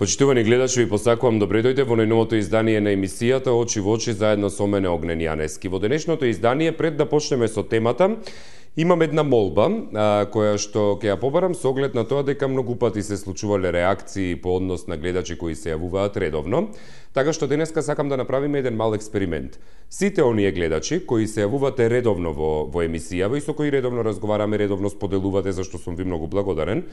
Почитувани гледачи, ви посакувам добре дојде во најновото издание на емисијата Очи во очи заедно со мене Огнен Јанески. Во денешното издание, пред да почнеме со темата, имам една молба која што ќе ја побарам со оглед на тоа дека многу пати се случувале реакции по однос на гледачи кои се јавуваат редовно. Така што денеска сакам да направиме еден мал експеримент. Сите оние гледачи кои се јавувате редовно во емисијава и со кои редовно разговараме, редовно споделувате, зашто сум ви многу благодарен,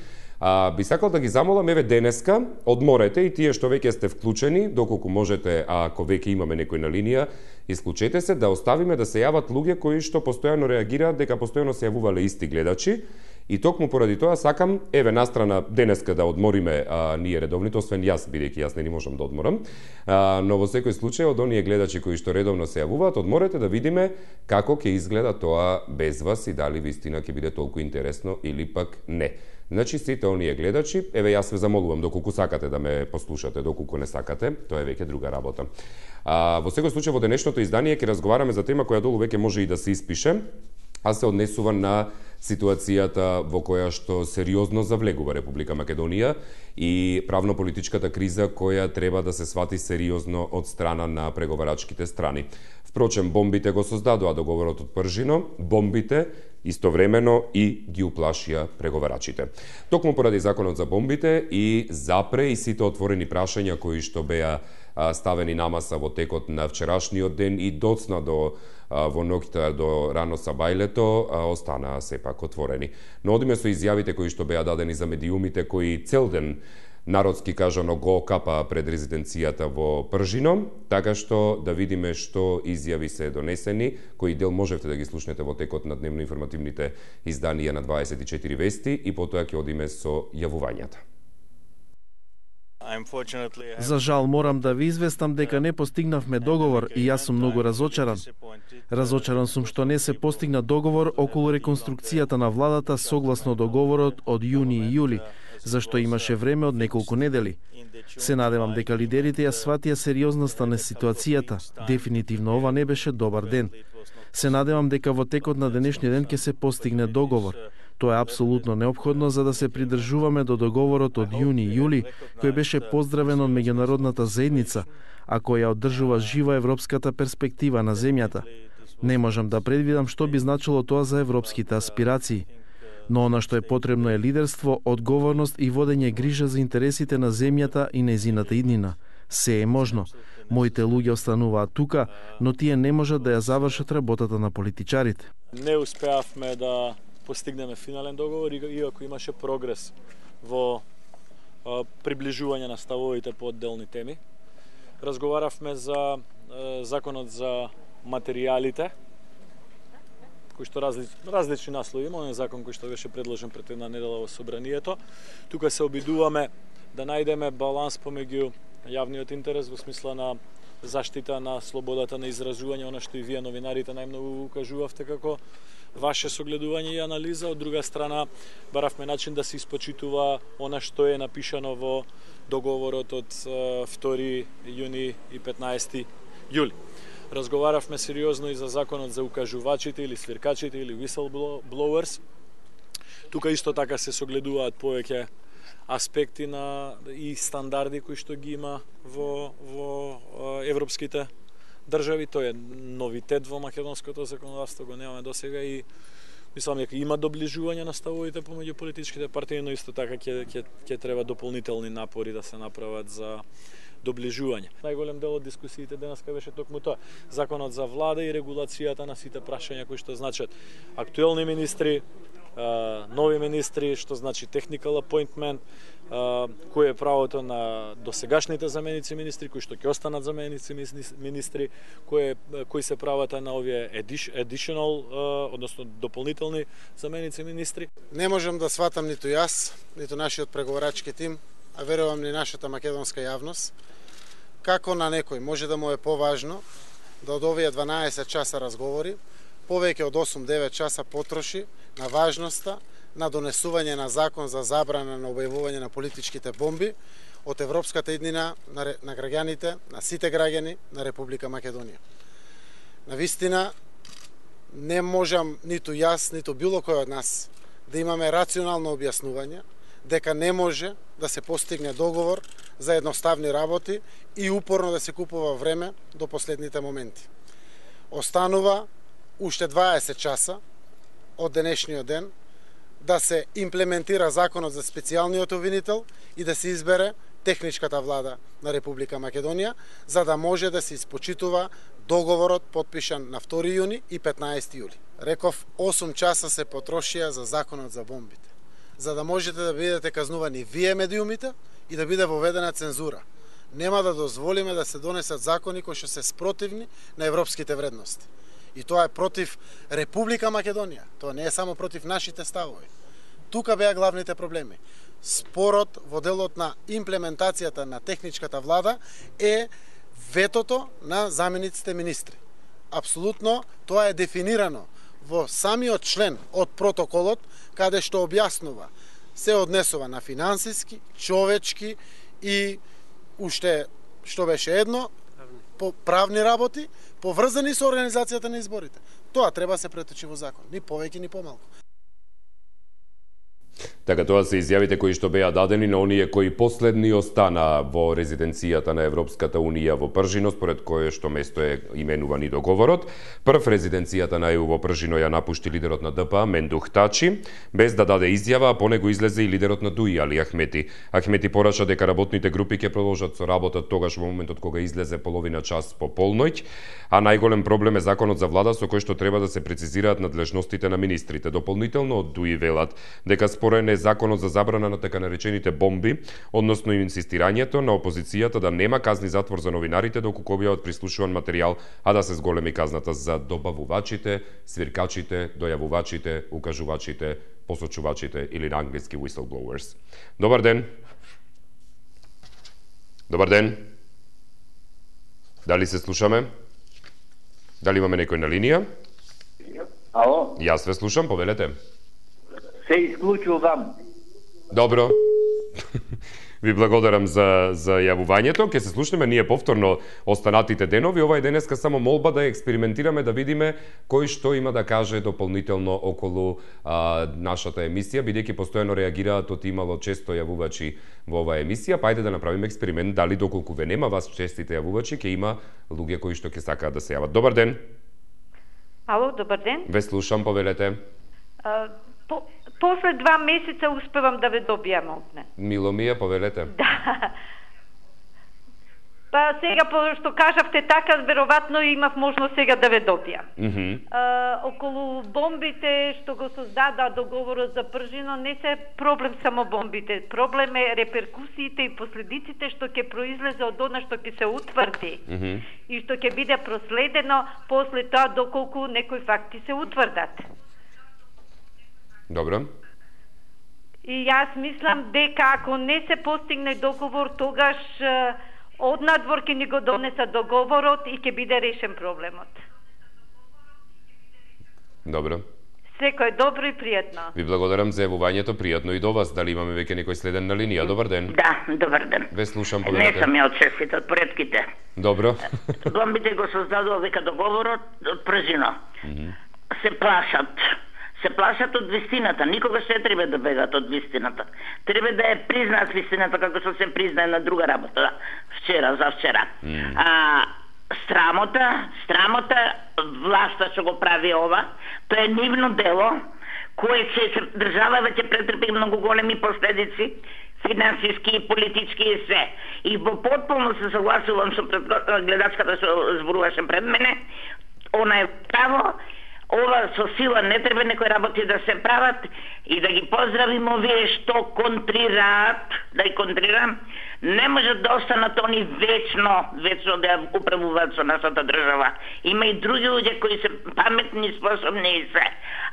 би сакал да ги замолам, еве денеска, одморете и тие што веќе сте вклучени, доколку можете, ако веќе имаме некој на линија, исклучете се да оставиме да се јават луѓе кои што постојано реагираат дека постојано се јавувале исти гледачи. И токму поради тоа сакам, еве настрана денеска да одмориме ние редовните, освен јас, бидејќи јас не можам да одморам, но во секој случај од оние гледачи кои што редовно се јавуваат, одморете да видиме како ќе изгледа тоа без вас и дали вистина ќе биде толку интересно или пак не. Значи, сите оние гледачи, еве јас ве замолувам, доколку сакате да ме послушате, доколку не сакате, тоа е веќе друга работа. Во секој случај, во денешното издание ќе разговараме за тема која долу веќе може и да се испише, а се однесува на ситуацијата во која што сериозно завлегува Република Македонија и правно-политичката криза која треба да се свати сериозно од страна на преговарачките страни. Впрочем, бомбите го создадоа договорот од Пржино, бомбите истовремено и ги уплашија преговарачите. Токму поради законот за бомбите и запре и сите отворени прашања кои што беа ставени на маса во текот на вчерашниот ден и доцна во ноќта до рано сабајлето, останаа сепак отворени. Но одиме со изјавите кои што беа дадени за медиумите кои цел ден народски кажано го капа пред резиденцијата во Пржино, така што да видиме што изјави се донесени, кои дел можевте да ги слушнете во текот на дневно-информативните изданија на 24 вести и потоа ќе одиме со јавувањата. За жал морам да ви известам дека не постигнавме договор и јас сум многу разочаран. Разочаран сум што не се постигна договор околу реконструкцијата на владата согласно договорот од јуни и јули, зашто имаше време од неколку недели. Се надевам дека лидерите ја сватија сериозноста на ситуацијата. Дефинитивно ова не беше добар ден. Се надевам дека во текот на денешниот ден ќе се постигне договор. Тоа е апсолутно неопходно за да се придржуваме до договорот од јуни и јули, кој беше поздравен од меѓународната заедница, а која одржува жива европската перспектива на земјата. Не можам да предвидам што би значило тоа за европските аспирации. Но она што е потребно е лидерство, одговорност и водење грижа за интересите на земјата и нејзината иднина. Се е можно. Моите луѓе остануваат тука, но тие не можат да ја завршат работата на политичарите. Не успеавме да постигнеме финален договор, иако имаше прогрес во приближување на ставовите по одделни теми. Разговаравме за законот за материјалите, кој што различни наслови има, оној закон кој што беше предложен пред една недела во собранието. Тука се обидуваме да најдеме баланс помеѓу јавниот интерес во смисла на заштита на слободата на изразување, она што и вие новинарите најмногу укажувавте како ваше согледување и анализа. Од друга страна, баравме начин да се испочитува она што е напишано во договорот од 2 јуни и 15 јули. Разговаравме сериозно и за законот за укажувачите или свиркачите или whistleblowers. Тука исто така се согледуваат повеќе аспекти на и стандарди кои што ги има во европските држави. Тоа е новитет во македонското законодавство, го немаме досега и мислам дека има доближување на ставовите помеѓу политичките партии, но исто така ќе треба дополнителни напори да се направат за доближување. Најголем дел од дискусиите денеска беше токму тоа. Законот за влада и регулацијата на сите прашања кои што значат актуелни министри, нови министри, што значи technical appointment, кој е правото на досегашните заменици министри, кои што ќе останат заменици министри, кои се правата на овие additional, односно дополнителни заменици министри. Не можам да сватам ниту јас, ниту нашиот преговарачки тим, а верувам ни нашата македонска јавност, како на некој може да му е поважно да од овие 12 часа разговори, повеќе од 8-9 часа потроши на важноста на донесување на закон за забрана на објавување на политичките бомби од европската иднина на граѓаните, на сите граѓани на Република Македонија. Навистина, не можам ниту јас, ниту било кој од нас да имаме рационално објаснување дека не може да се постигне договор за едноставни работи и упорно да се купува време до последните моменти. Останува уште 20 часа од денешниот ден да се имплементира законот за специјалниот обвинител и да се избере техничката влада на Република Македонија, за да може да се испочитува договорот подпишан на 2 јуни и 15 јули. Реков, 8 часа се потрошија за законот за бомбите, за да можете да бидете казнувани вие медиумите и да биде воведена цензура. Нема да дозволиме да се донесат закони кои што се спротивни на европските вредности. И тоа е против Република Македонија. Тоа не е само против нашите ставови. Тука беа главните проблеми. Спорот во делот на имплементацијата на техничката влада е ветото на замениците министри. Апсолутно тоа е дефинирано во самиот член од протоколот, каде што објаснува се однесува на финансиски, човечки и уште што беше едно, по правни работи, поврзани со организацијата на изборите. Тоа треба се преточи во закон, ни повеќе ни помалку. Така, тоа се изјавите кои што беа дадени на оние кои последни остана во резиденцијата на Европската Унија во Пржино, според кое што место е именуван и договорот. Прв резиденцијата на ЕУ во Пржино ја напушти лидерот на ДП Мендух Тачи, без да даде изјава, а по него излезе и лидерот на ДУИ Али Ахмети. Ахмети пораша дека работните групи ќе продолжат со работа тогаш во моментот кога излезе половина час по полноќ, а најголем проблем е законот за влада со кој што треба да се прецизираат надлежностите на министрите. Дополнително од ДУИ велат дека спорен е законот за забрана на така наречените бомби, односно инсистирањето на опозицијата да нема казни затвор за новинарите доколку објават прислушуван материјал, а да се зголеми казната за добавувачите, свиркачите, дојавувачите, укажувачите, посочувачите или на англиски whistleblowers. Добар ден. Добар ден. Дали се слушаме? Дали имаме некој на линија? Ало? Јас ве слушам, повелете. Се исклучувам. Добро. Ви благодарам за јавувањето. Ке се слушнеме ние повторно останатите денови. Ова е денеска само молба да експериментираме, да видиме кој што има да каже дополнително околу нашата емисија, бидејќи постојано реагираат од имало често јавувачи во оваа емисија. Па ајде да направиме експеримент, дали доколку ве нема вас честите јавувачи, ќе има луѓе кои што ќе сакаат да се јават. Добар ден. Ало, добар ден. Ве слушам, повелете. После 2 месеца успевам да ве добијам овде. Мило ми е, повелете. Да. Па сега, што кажавте така, веројатно имав можност сега да ве добијам. Околу бомбите што го создада договорот за Пржино, не се проблем само бомбите. Проблем е реперкусиите и последиците што ќе произлезе од она што ќе се утврди. И што ќе биде проследено после тоа доколку некои факти се утврдат. Добро. И јас мислам дека ако не се постигне договор, тогаш однадвор ќе ни го донесат договорот и ќе биде решен проблемот. Добро. Секој добро и пријатно. Ви благодарам за јавувањето, пријатно и до вас. Дали имаме веќе некој следен на линија? Добар ден. Да, добар ден. Ве слушам, повелете. Не сум ја од честите, од предките. Добро. Бомбите го создадува века договорот од Пржино. Се плашат. Се плашат од вистината. Никогаш не треба да бегат од вистината. Треба да ја признаат вистината како што се признае на друга работа. Вчера, за вчера. Срамота, власта што го прави ова, тоа е нивно дело, кое ќе држава ќе претрпи многу големи последици, финансиски и политички и се. И во потполно се согласувам со гледачката што зборуваше пред мене, она е право. Ова со сила не треба некои работи да се прават и да ги поздравим овие што контрираат, да ги контрирам, не можат да останат они вечно да управуваат со нашата држава. Има и други луѓе кои се паметни, способни и се.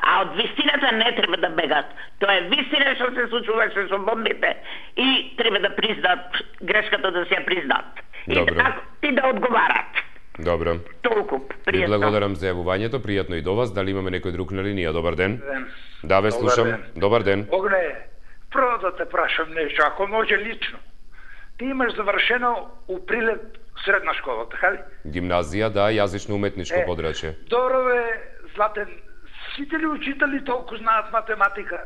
А од вистината не треба да бегат. Тоа е вистина што се случуваше со бомбите и треба да признаат грешката, да се ја признаат. И да одговарат. Добро. Толку, пријатно. Ви благодарам за јавувањето, пријатно и до вас. Дали имаме некој друг на линија? Добар ден. Да, ве слушам. Добар ден. Огне, прво да те прашам нешто, ако може лично. Ти имаш завршено у Прилеп средна школа, така ли? Гимназија, да, јазично-уметничко подрачје. Добро, Златен, сите ли учители толку знаат математика?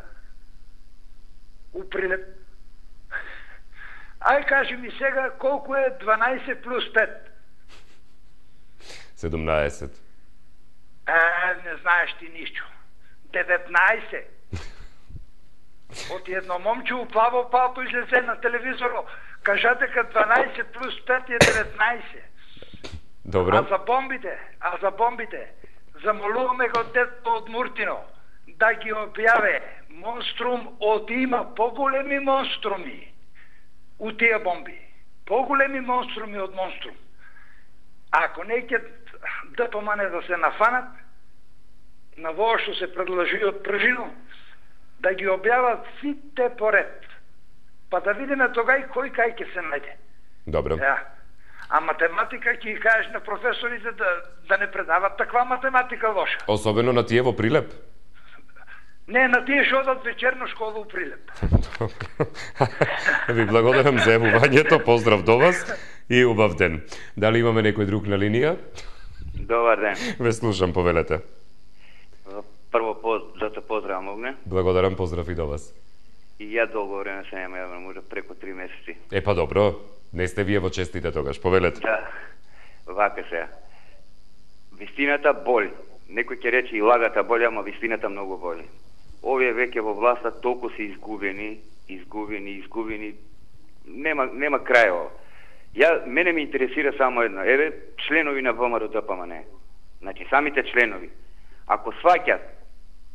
у Прилеп. Ај кажи ми сега колку е 12 плюс 5? 17. Не знаеш ти ништо. 19. Од едно момче у плаво палто излезе на телевизоро, кажа дека 12 плюс 5 е 19. Добро. А за бомбите, замолуваме го детето од Муртино да ги објаве монструм од има поголеми монструми у тие бомби. Поголеми монструми од монструм. Ако не ќе ДПМН да се нафанат на во што се предложи од Пржино, да ги објават сите поред, па да видиме тогај кој кај ќе се најде. Добро. А математика ќе кажеш на професорите да не предават таква математика лоша. Особено на тие во Прилеп. Не, на тие што одат вечерна школа у Прилеп. Ви благодарам за јавувањето, поздрав до вас и убав ден. Дали имаме некој друг на линија? Добар ден. Ве слушам, повелете. Прво да те поздравам, Огне. Благодарам, поздрав и до вас. И ја долго време се нема јавно, може преку 3 месеци. Па добро, не сте вие во честите тогаш, повелете. Да, вака сега. Вистината боли. Некој ќе рече и лагата боли, ама вистината многу боли. Овие веќе во власта толку се изгубени. Нема крај ово. Мене ме интересира само едно. Еве, членови на ВМРО ДПМН. Значи, самите членови. Ако сваќат,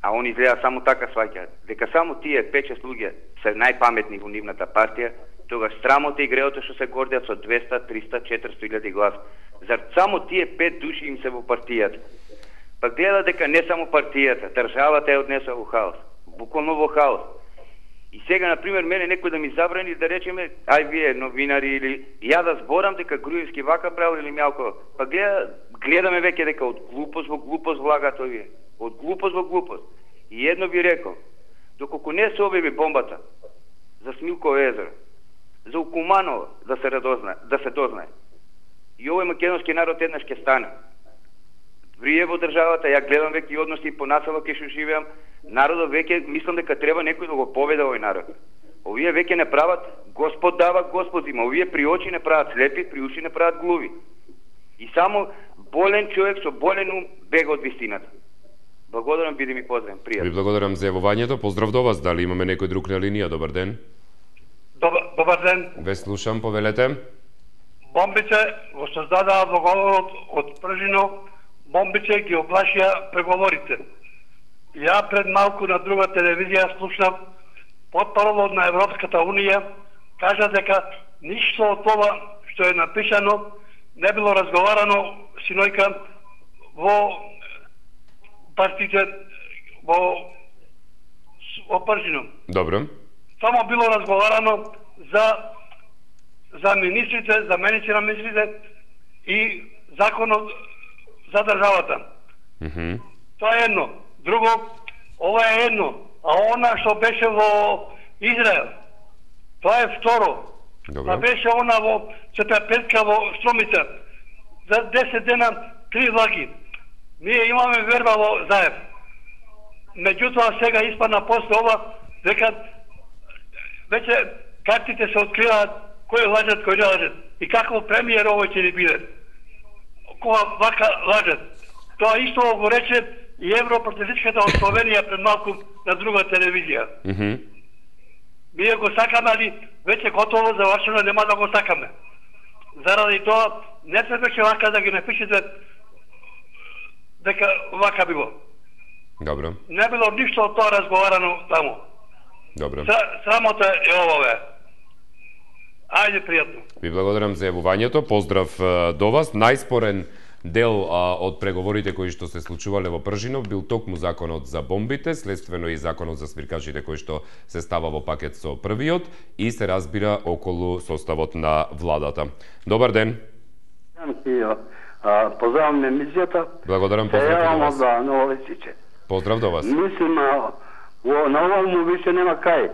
а они изгледа само така сваќат, дека само тие 5-6 луѓе се најпаметни во нивната партија, тогаш срамота и греото што се гордеат со 200, 300, 400 илјади глас. Зар само тие 5 души им се во партијата? Па гледа дека не само партијата, државата е однесла во хаос. Буквално во хаос. И сега, например, мене некој да ми забрани да речеме, ај вие новинари или ја да зборам дека Груевски вака правил или Мјалко. Па гледаме веќе дека од глупост во глупост влагат овие. Од глупост во глупост. И едно ви рекол, доколку не се објави бомбата за Смилково езеро, за Укуманово да се дознае. И овој македонски народ еднаш ќе стане. Врие во државата, ја гледам веќе и односи по насело кај што живеам, народот веќе мислам дека треба некој да го поведе овој народ. Овие веќе не прават Господ дава, Господ има. Овие при очи не прават слепи, при уши не прават глуви. И само болен човек со болен ум бега од вистината. Благодарам, биде ми поздравен, пријатно. Ви благодарам за јавувањето, поздрав до вас. Дали имаме некој друг на линија? Добар ден. Добар ден. Ве слушам, повелете. Бомбите го создадаа договорот од Пржино, бомбите ги оплашија преговорите. Ја пред малку на друга телевизија слушнав портпаролот на Европската Унија кажа дека ништо од ова што е напишано не било разговарано синојка во партиите во Пржино. Добро. Само било разговарано за министрите, заменици на министрите и законот за државата. Тоа е едно. Друго, ова е едно. А она што беше во Израел, тоа е второ. Па беше она во Четапетка во Стромица. За 10 дена 3 влаги. Ние имаме верба во Заев. Меѓутоа сега испадна после ова дека веќе картите се откриваат кој лажат, кој не лажат. И какво премиер овој ќе ни биде. Кога вака лажат. Тоа исто го рече и Европартизичката од Словенија пред малку на друга телевизија. Ние го сакаме, али веќе готово завршено, нема да го сакаме. Заради тоа не требаше вака да ги напишете дека вака било. Добро. Не било ништо од тоа разговарано таму. Добро. Срамота е овове. Ајде, пријатно. Ви благодарам за јавувањето. Поздрав до вас. Најспорен дел од преговорите кои што се случувале во Пржинов бил токму законот за бомбите, следствено и законот за свиркачите кој што се става во пакет со првиот и се разбира околу составот на владата. Добар ден. Поздравам емисијата. Благодарам, поздрав до вас. Поздрав до вас. Мислим, на овому више нема кај.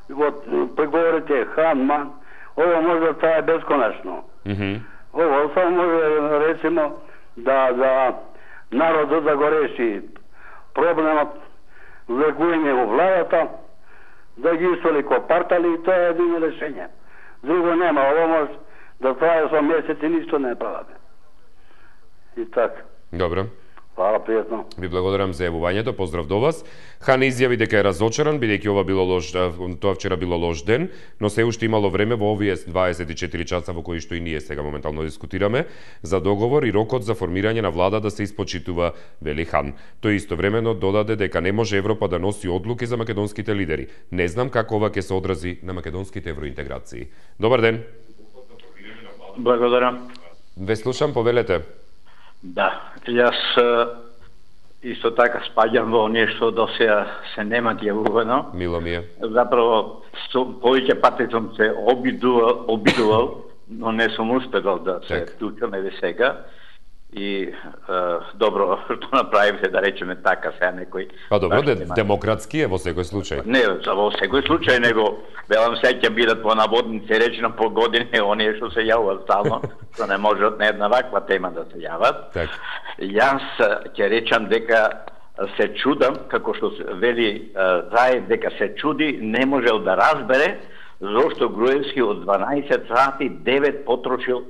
Во преговорите Хан-Ман, ово може да трае бесконечно. Ово само може, речемо, да народот да го реши проблемот лекување во владата, да ги истоли копартали и тоа е едно решење. Друго нема, ово може да трае со месеци ништо не праваме. И така. Добро. Хвала, пријатно. Ви благодарам за јавувањето, поздрав до вас. Хан изјави дека е разочаран, бидејќи ова било тоа вчера било лош ден, но се уште имало време во овие 24 часа во кои што и ние сега моментално дискутираме за договор и рокот за формирање на влада да се испочитува, вели Хан. Тој истовремено додаде дека не може Европа да носи одлуки за македонските лидери. Не знам како ова ќе се одрази на македонските евроинтеграции. Добар ден. Благодарам. Ве слушам, повелете. Да, јас исто така спаѓам во оние што до сега се немат јавувано. Мило ми е. Заправо, повеќе пати сум се обидувал, но не сум успедал да се вклучам еве сега. И добро што направивте, да речеме така, сега некој... Па добро, демократски е во секој случај. Не, во секој случај, него велам се ќе бидат по наводници речено по години оние што се јавуваат стално, што не можат на една ваква тема да се јават. Так. Јас ќе речам дека се чудам, како што вели Заев, дека се чуди, не можел да разбере зошто Груевски од 12 сати 9 потрошил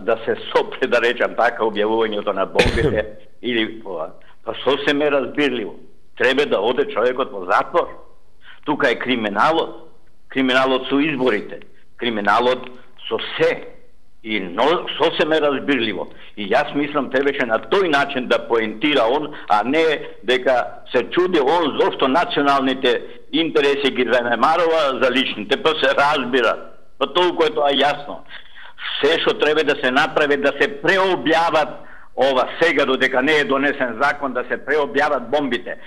да се сопре, да речам така, објавувањето на бомбите или па сосем е разбирливо. Треба да оде човекот во затвор. Тука е криминалот. Криминалот со изборите. Криминалот со се. И сосем е разбирливо. И јас мислам требаше на тој начин да поентира он, а не дека се чуди он зошто националните интереси ги занемарува за личните. Па се разбира. Па толку е тоа јасно. Се што треба да се направи, да се преобјават ова сега, додека не е донесен закон, да се преобјават бомбите.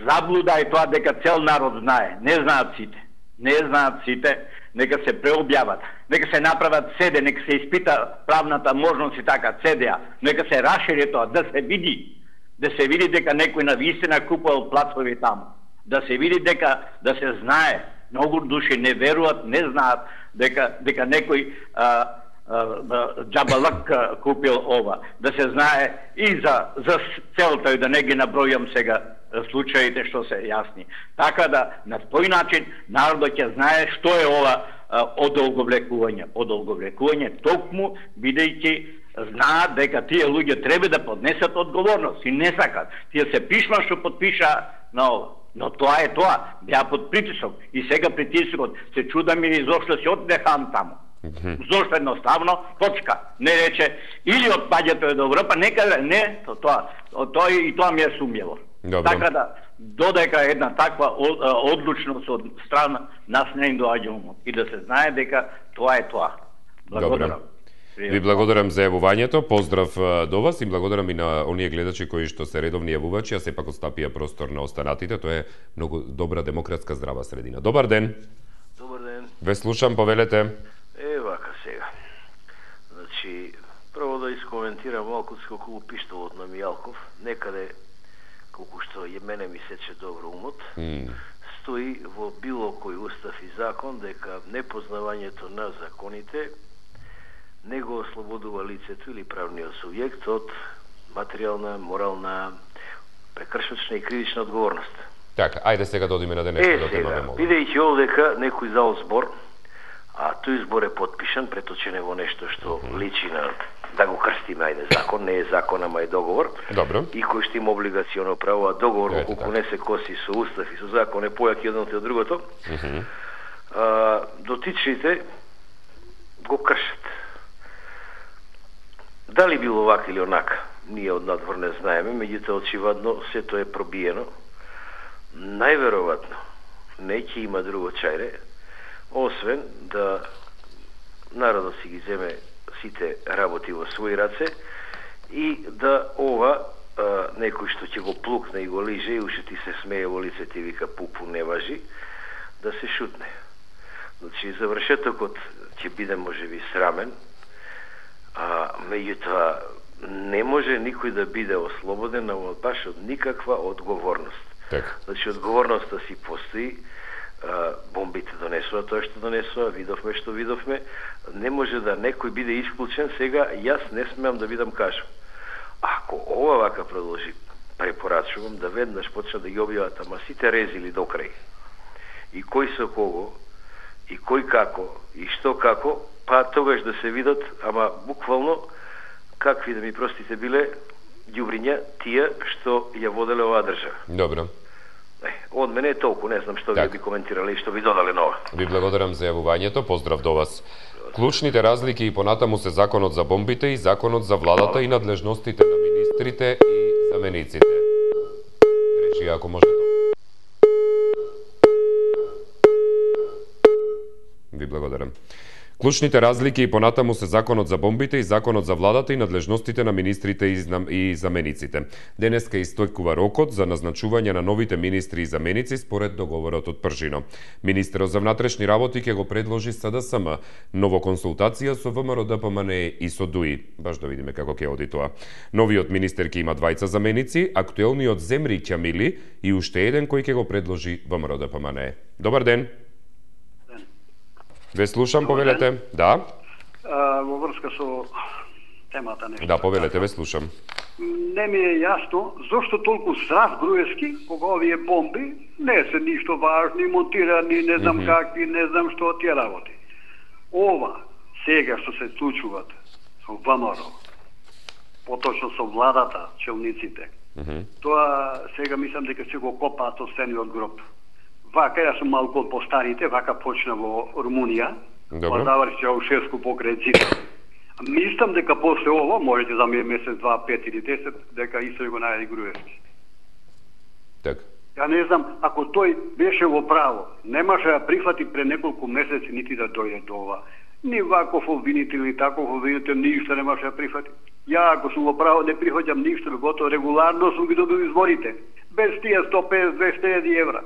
Заблуда е тоа дека цел народ знае. Не знаат сите. Не знаат сите, нека се преобјават. Нека се направат седе, нека се испита правната можност и така, седеа. Нека се расшири тоа, да се види. Да се види дека некој навистина купувал плацови таму. Да се види дека, да се знае. Многу души не веруваат, не знаат дека некој джабалак купил ова. Да се знае и за целта и да не ги набројам сега случаите што се јасни. Така да на тој начин народот ќе знае што е ова одолговлекување. Одолговлекување токму бидејќи знаат дека тие луѓе треба да поднесат одговорност и не сакат. Тие се пишма што подпиша на ова. Но тоа е тоа. Беа под притисок. И сега притисокот се чудам и зошто се одне Хан таму. Зошто едноставно, точка. Не рече, или отпаѓето е до Европа, нека не, тоа и тоа ми е сумњево. Така да, додека една таква одлучност од страна нас не им доаѓа умот. И да се знае дека тоа е тоа. Благодарам. Ви благодарам за јавувањето, поздрав до вас и благодарам и на оние гледачи кои што се редовни јавувачи, а сепак остапија простор на останатите. Тоа е многу добра демократска здрава средина. Добар ден. Добар ден. Ве слушам, повелете. Вака сега. Значи, прво да искоментирам малку околу пиштолот на Мијалков. Некаде, колку што мене ми сече добро умот, стои во било кој устав и закон дека непознавањето на законите не го ослободува лицето или правниот субјект од материјална, морална, прекршочна и кривична одговорност. Така, ајде сега да одиме на денешната тема. Бидејќи овдека некој зал збор, а тој збор е подпишан, преточен е во нешто што личи на, да го крстиме, ајде, закон, не е закон, ама е договор. Добро. И кој што има облигационо право, а договор, колку не се коси со устав и со закон, е појак едното и од другото, дотичните го кршат. Дали било вака или онака, ние од надвор не знаеме, меѓутоа очевидно сето е пробиено. Најверојатно не ќе има друго чајре, освен да народот си ги земе сите работи во своји раце и да ова некој што ќе го плукне и го лиже и уште ти се смее во лицето и вика пупу не важи, да се шутне. Значи завршетокот ќе биде можеби срамен, а меѓутоа не може никој да биде ослободен баш од никаква одговорност. Значи одговорноста си постои, бомбите донесува тоа што донесува, видовме што видовме, не може да некој биде исклучен. Сега јас не смеам да бидам кажам. Ако ова вака продолжи, препорачувам да веднаш почнат да ги објават, ама сите резили до крај. и кој со кого, и кој како, и што како, па тогаш да се видат, ама буквално, какви да ми простите биле, ѓубриња тие што ја воделе оваа држава. Добро. Од мене е толку, не знам што ви би коментирале и што би додале нова. Ви благодарам за јавувањето, поздрав до вас. Клучните разлики и понатаму се законот за бомбите и законот за владата и надлежностите на министрите и замениците. Речи, ако може тоа. Ви благодарам. Клучните разлики и понатаму се законот за бомбите и законот за владата и надлежностите на министрите и замениците. Денеска истекува рокот за назначување на новите министри и заменици според договорот од Пржино. Министерот за внатрешни работи ќе го предложи СДСМ, ново консултација со ВМРО ДПМН и со ДУИ. Баш да видиме како ќе оди тоа. Новиот министер ќе има двајца заменици, актуелниот Земри Ќамили и уште еден кој ќе го предложи ВМРО ДПМН. Добар ден. Ве слушам, повелете. Да. Во врска со темата нешто. Да, повелете, ве слушам. Не ми е јасно зошто толку страх Груевски кога овие бомби не се ништо важни, монтирани, не знам какви, не знам што тие работи. Ова сега што се случуваат со ВМРО, поточно со владата, челниците, тоа сега мислам дека се го копаат од стениот гроб. Вака, јас сум малку од постарите, вака почна во Румунија, па заврши Чаушеску покрај Цитар. Мислам дека после ово, можете за месец, 2, 5 или 10, дека исто го најади Груевски. Так. Ја не знам, ако тој беше во право, немаше да прифати пред неколку месеци нити да дојде до ова. Ни ваков обвинител, ни таков обвинител, ништо немаше да прифати. Ја, ако сум во право, не прифаќам ништо, готово регуларно сум ги добил изборите. Без тие 150-200 евра.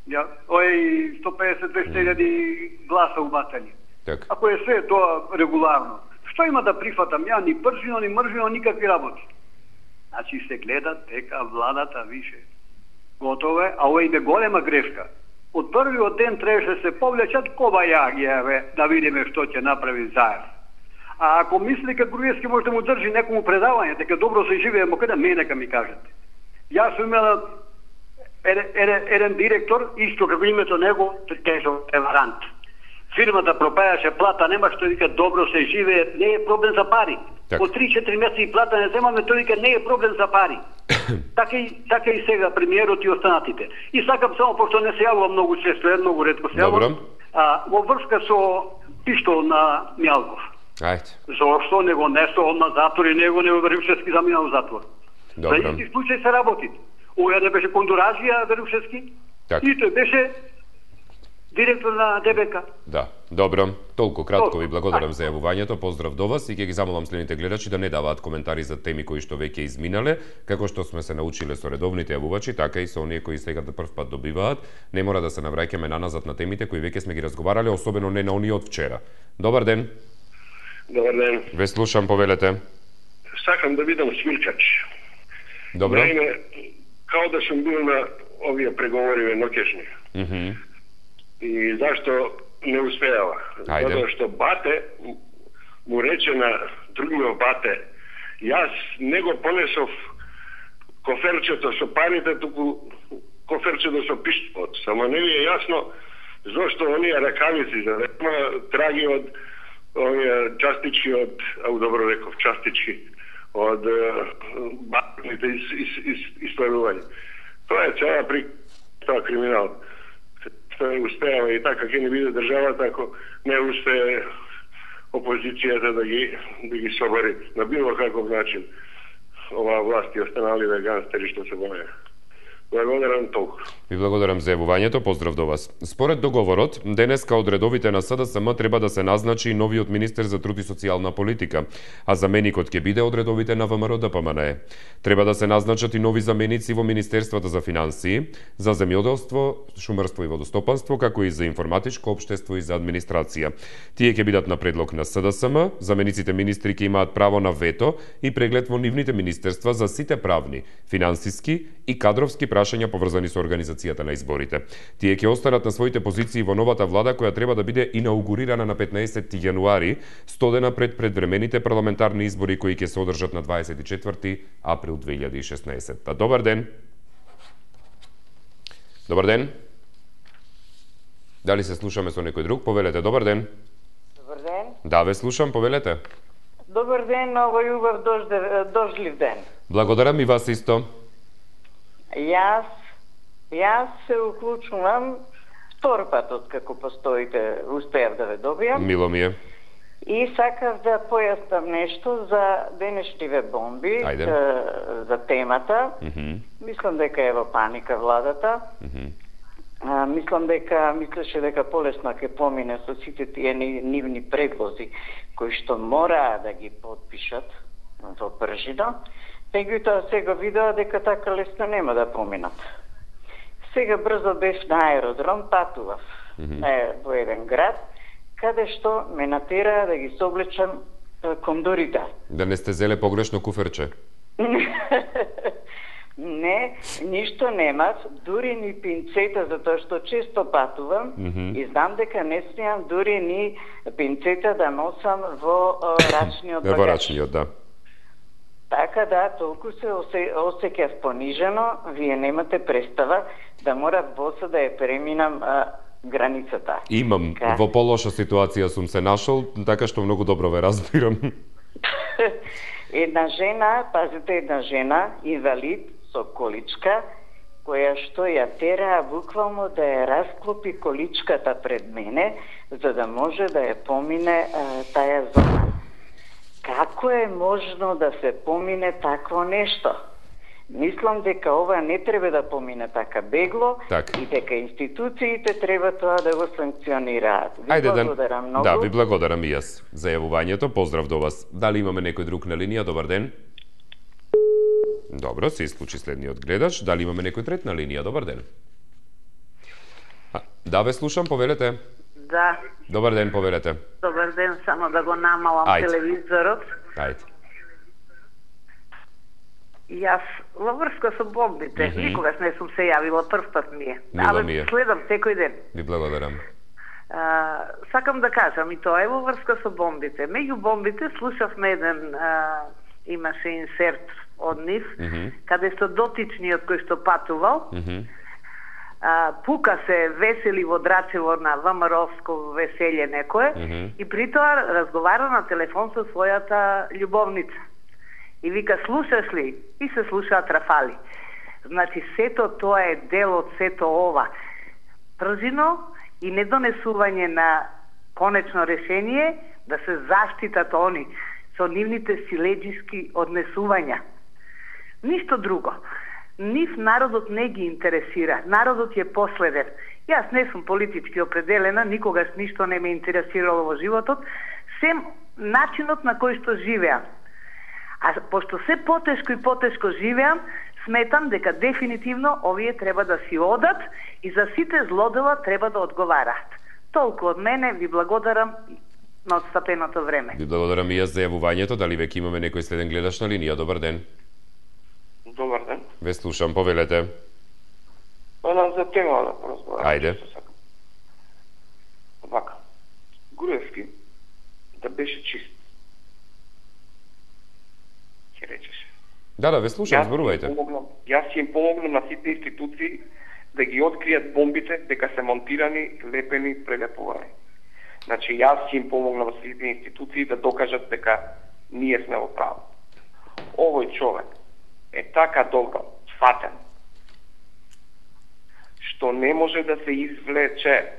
Ja, 150-200 гласа убатани. Ако е се тоа регуларно, што има да прифатам? Ја ни Пржино, ни Мржино, никакви работи. Значи се гледа дека владата више. Готово е, а ова име голема грешка. Од првиот ден требаше се повлечат кобајагија, да видиме што ќе направи заедно. А ако мисли дека Груевски може да му држи некому предавање, дека добро се живее, каде нека ми кажете. Јас сум имала еден директор, исто како името него, тежо преварант. Фирмата пропајаше, плата нема, што вика добро се живее, не е проблем за пари. По 3-4 месеци плата не земаме, тој вика не е проблем за пари. Така и сега премиерот и останатите. И сакам само, пошто не се јавува многу често, многу ретко се јавува, во врска со пиштол на Мјалков. Зошто не го несо он на затвор и него не Верушевски заминал в затвор? За исти случај се работи. Оја не беше Кондуражија Верушевски, и тој беше директор на ДБК. Да, добро. Толку кратко ви благодарам за јавувањето. Поздрав до вас и ќе ги замолам следните гледачи да не даваат коментари за теми кои што веќе изминале, како што сме се научиле со редовните јавувачи, така и со оние кои сега да прв пат добиваат. Не мора да се навраќаме наназад на темите кои веќе сме ги разговарале, особено не на оние од вчера. Добар ден. Добар ден. Ве слушам, повелете. Сакам да видам свиркач. Добро. Наиме, као да сум бил на овие преговори ноќешни. И зашто не успеала? Затоа што бате му рече на другиот бате, јас не го понесов коферчето со парите, туку коферчето со пиштолот. Само не ви е јасно зошто оние ракавици, за да има траги од овие частички од, добро реков, частички од батните исправување. Тоа е цела тоа криминал. Тоа успеава и така ќе не биде државата ако не успее опозицијата да ги собари на било каков начин оваа власт и останалите ганстери што се боја. Благодарам толку. Ви благодарам за јавувањето, поздрав до вас. Според договорот, денеска од редовите на СДСМ треба да се назначи и новиот министер за труд и социјална политика, а заменикот ќе биде од редовите на ВМРО ДПМН. Треба да се назначат и нови заменици во Министерството за финансии, за земјоделство, шумарство и водостопанство, како и за информатичко општество и за администрација. Тие ќе бидат на предлог на СДСМ, замениците министри ќе имаат право на вето и преглед во нивните министерства за сите правни, финансиски и кадровски прашања поврзани со организацијата на изборите. Тие ќе останат на своите позиции во новата влада која треба да биде инаугурирана на 15 јануари, 100 дена пред предвремените парламентарни избори кои ќе се одржат на 24 април 2016. Добар ден. Добар ден. Дали се слушаме со некој друг? Повелете, добар ден. Добар ден. Да, ве слушам, повелете. Добар ден, овој убав дождлив ден. Благодарам и вас исто. Јас се уклучувам втор пат од како постоите, успеав да ве добијам. Мило ми е. И сакав да појаснам нешто за денешниве бомби, за темата. Мислам дека е во паника владата. Мислеше дека полесно ќе помине со сите тие нивни предлози кои што мораа да ги подпишат во пржино. Меѓутоа сега видоа дека така лесно нема да поминат. Сега брзо бев на аеродром, патував во еден град, каде што ме натераа да ги соблечам кондорите. Да не сте зеле погрешно куферче? Не, ништо немав, дури ни пинцета, затоа што често патувам и знам дека не смеам дури ни пинцета да носам во рачниот багаж. Во рачниот, да. Така да, толку се осеќав понижено, вие немате представа да морав боса да ја преминам границата. Имам, во полоша ситуација сум се нашол, така што многу добро ве разбирам. Една жена, инвалид, со количка, која што ја тераа буквално да ја расклопи количката пред мене, за да може да ја помине таја зона. Како е можно да се помине такво нешто? Мислам дека ова не треба да помине така бегло и дека институциите треба тоа да го санкционираат. Ви благодарам многу. Да, ви благодарам и јас за јавувањето. Поздрав до вас. Дали имаме некој друг на линија? Добар ден. Добро, се исклучи следниот гледач. Дали имаме некој трет на линија? Добар ден. Да, ве слушам, повелете. Да. Добар ден, повелете. Добар ден, само да го намалам телевизорот. Ајде. Јас во врска со бомбите, никогаш не сум се јавила, прв пат ми е. Мило ми е. Следам секој ден. Ви благодарам. Сакам да кажам, и тоа е во врска со бомбите. Меѓу бомбите слушавме еден, имаше инсерт од нив, каде со дотичниот кој што патувал, пука се весели во Драчево на ВМРО-ско веселје некое, и при тоа разговара на телефон со својата љубовница. И вика, слушаш ли? И се слушаат рафали. Значи, сето тоа е дел од сето ова. Пржино и недонесување на конечно решение да се заштитат они со нивните силеџиски однесувања. Ништо друго. Нив народот не ги интересира. Народот е последен. Јас не сум политички определена, никогаш ништо не ме интересирало во животот, сем начинот на кој што живеам. А пошто се потешко и потешко живеам, сметам дека дефинитивно овие треба да си одат и за сите злодела треба да одговараат. Толку од мене, ви благодарам на отстапеното време. Ви благодарам и јас за јавувањето. Дали веќе имаме некој следен гледач на линија? Добар ден. Добар ден. Ве слушам, повелете. За тема да поразговарам. Ајде. Вака. Груевски да беше чист. Ќе речеше. Да, ве слушам, зборувајте. Јас ќе им помогнам на сите институции да ги откријат бомбите дека се монтирани, лепени, прелепувани. Значи, јас ќе им помогнам на сите институции да докажат дека ние сме во право. Овој човек е така добро фатен, што не може да се извлече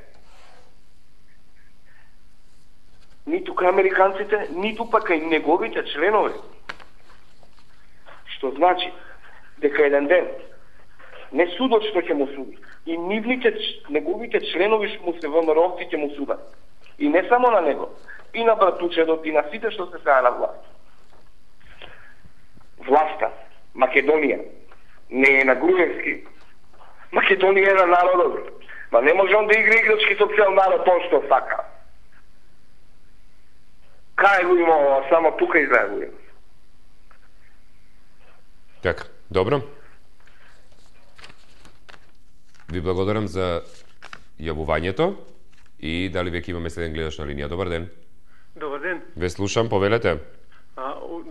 ниту кај американците, ниту пак кај неговите членови. Што значи дека еден ден не судот што ќе му суди, и неговите членови што му се ВМРО-вци ќе му судат. И не само на него, и на братучедот, и на сите што се сега на власт. Власта, Македонија, не е на Груевски. Македонија е на народот. Ма не може он да игра играчки со цел народ, тоа што сака. Кај го има ова, само тука изгледа го има. Така, добро. Ви благодарам за јавувањето и дали веќе имаме следен гледач на линија. Добар ден. Добар ден. Ве слушам, повелете.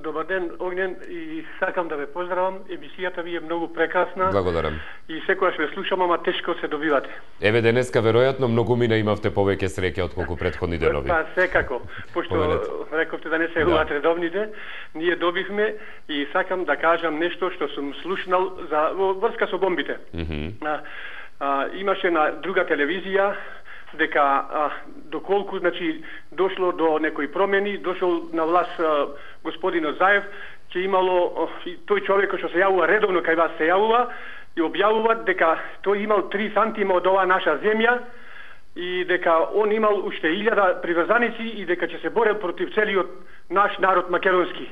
добар ден, Огнен, и сакам да ве поздравам. Емисијата ви е многу прекрасна. Благодарам. И секогаш ве слушам, ама тешко се добивате. Еве денеска веројатно многумина имавте повеќе среќа отколку претходни денови. Па секако, пошто рековте да не се јавуват редовните, ние добивме и сакам да кажам нешто што сум слушнал за врска со бомбите. Имаше на друга телевизија дека доколку значи дошло до некои промени, дошол на власт господин Заев, ќе имало тој човек што се јавува редовно кај вас се јавува и објавува дека тој имал 3 сантима од оваа наша земја и дека он имал уште 1000 приврзаници и дека ќе се борел против целиот наш народ македонски.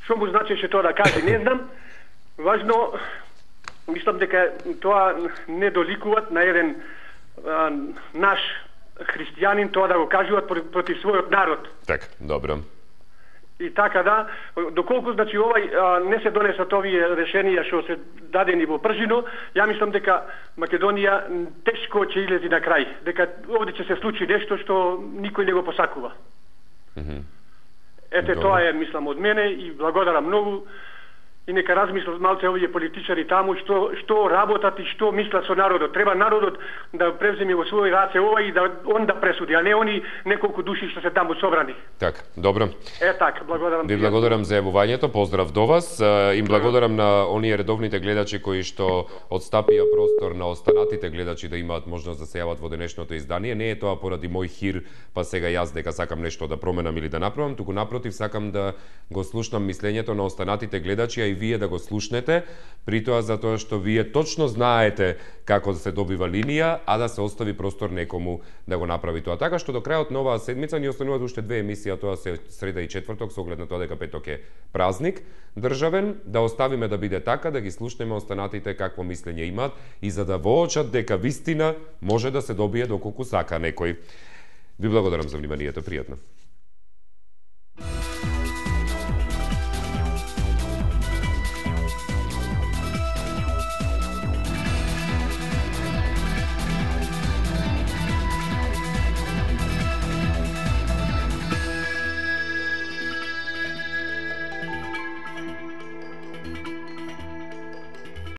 Што му значеше тоа да каже, не знам. Важно, мислам дека тоа не доликуваат на еден наш христијанин тоа да го кажуваат против својот народ. Така, добро. И така да, доколку значи овај не се донесат овие решенија што се дадени во пржино, ја мислам дека Македонија тешко ќе излези на крај, дека овде ќе се случи нешто што никој не го посакува. Ете тоа е мислам од мене и благодарам многу. И нека размислат малце овие политичари таму што работат и што мислат со народот. Треба народот да превземе во своји раце ова и да он да пресуди, а не они неколку души што се таму собрани. Так, добро. Така, благодарам. Ви благодарам за јавувањето, поздрав до вас. Им благодарам на оние редовните гледачи кои што одстапија простор на останатите гледачи да имаат можност да се јават во денешното издание. Не е тоа поради мој хир, па сега јас дека сакам нешто да променам или да направам, туку напротив сакам да го слушнам мислењето на останатите гледачи, а и вие да го слушнете, при тоа затоа што вие точно знаете како да се добива линија, а да се остави простор некому да го направи тоа. Така што до крајот на оваа седмица ни остануваат уште 2 емисии, а тоа се среда и четврток, со оглед на тоа дека петок е празник државен, да оставиме да биде така, да ги слушнеме останатите какво мислење имаат и за да воочат дека вистина може да се добие доколку сака некој. Ви благодарам за вниманието, пријатно.